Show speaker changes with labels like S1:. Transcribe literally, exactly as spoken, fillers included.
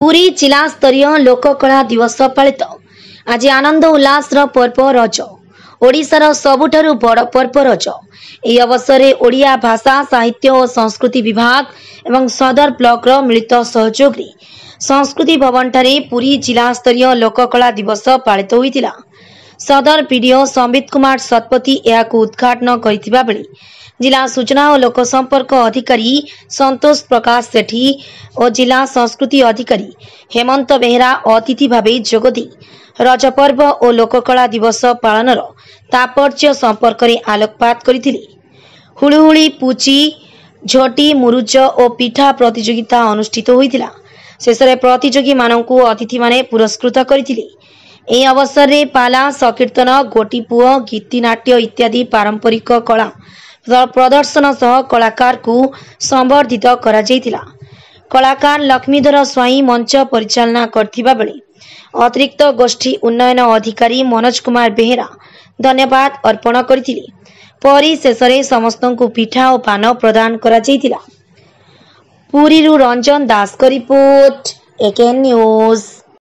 S1: ପୁରୀ ଜିଲ୍ଲାସ୍ତରୀୟ ଲୋକକଳା ଦିବସ ପାଳିତ। ଆଜି ଆନନ୍ଦ ଉଲ୍ଲାସର ପର୍ବ ରଜ। ଓଡ଼ିଶାର ସବୁଠାରୁ ବଡ଼ ପର୍ବ ରଜ। ଏହି ଅବସରରେ ଓଡ଼ିଆ ଭାଷା, ସାହିତ୍ୟ ଓ ସଂସ୍କୃତି ବିଭାଗ ଏବଂ ସଦର ବ୍ଲକର ମିଳିତ ସହଯୋଗରେ ସଂସ୍କୃତି ଭବନଠାରେ ପୁରୀ ଜିଲ୍ଲାସ୍ତରୀୟ ଲୋକକଳା ଦିବସ ପାଳିତ ହୋଇଥିଲା। ସଦର ବିଡିଓ ସମ୍ବିତ କୁମାର ଶତପଥୀ ଏହାକୁ ଉଦ୍ଘାଟନ କରିଥିବା ବେଳେ ଜିଲ୍ଲା ସୂଚନା ଓ ଲୋକସମ୍ପର୍କ ଅଧିକାରୀ ସନ୍ତୋଷ ପ୍ରକାଶ ସେଠୀ ଓ ଜିଲ୍ଲା ସଂସ୍କୃତି ଅଧିକାରୀ ହେମନ୍ତ ବେହେରା ଅତିଥି ଭାବେ ଯୋଗଦେଇ ରଜ ପର୍ବ ଓ ଲୋକକଳା ଦିବସ ପାଳନର ତାତ୍ପର୍ଯ୍ୟ ସମ୍ପର୍କରେ ଆଲୋକପାତ କରିଥିଲେ। ହୁଳୁହୁଳି, ପୁଚି, ଝୋଟି, ମୁରୁଜ ଓ ପିଠା ପ୍ରତିଯୋଗିତା ଅନୁଷ୍ଠିତ ହୋଇଥିଲା। ଶେଷରେ ପ୍ରତିଯୋଗୀମାନଙ୍କୁ ଅତିଥିମାନେ ପୁରସ୍କୃତ କରିଥିଲେ। ଏହି ଅବସରରେ ପାଲା, ସଂକୀର୍ତ୍ତନ, ଗୋଟିପୁଅ, ଗୀତିନାଟ୍ୟ ଇତ୍ୟାଦି ପାରମ୍ପରିକ କଳା ପ୍ରଦର୍ଶନ ସହ କଳାକାରଙ୍କୁ ସମ୍ବର୍ଦ୍ଧିତ କରାଯାଇଥିଲା। କଳାକାର ଲକ୍ଷ୍ମୀଧର ସ୍ୱାଇଁ ମଞ୍ଚ ପରିଚାଳନା କରିଥିବା ବେଳେ ଅତିରିକ୍ତ ଗୋଷ୍ଠୀ ଉନ୍ନୟନ ଅଧିକାରୀ ମନୋଜ କୁମାର ବେହେରା ଧନ୍ୟବାଦ ଅର୍ପଣ କରିଥିଲେ। ପରିଶେଷରେ ସମସ୍ତଙ୍କୁ ପିଠା ଓ ପାନ ପ୍ରଦାନ କରାଯାଇଥିଲା। ପୁରୀରୁ ରଞ୍ଜନ ଦାସଙ୍କ ରିପୋର୍ଟ, ଏକେଏନ୍ ନ୍ୟୁଜ୍।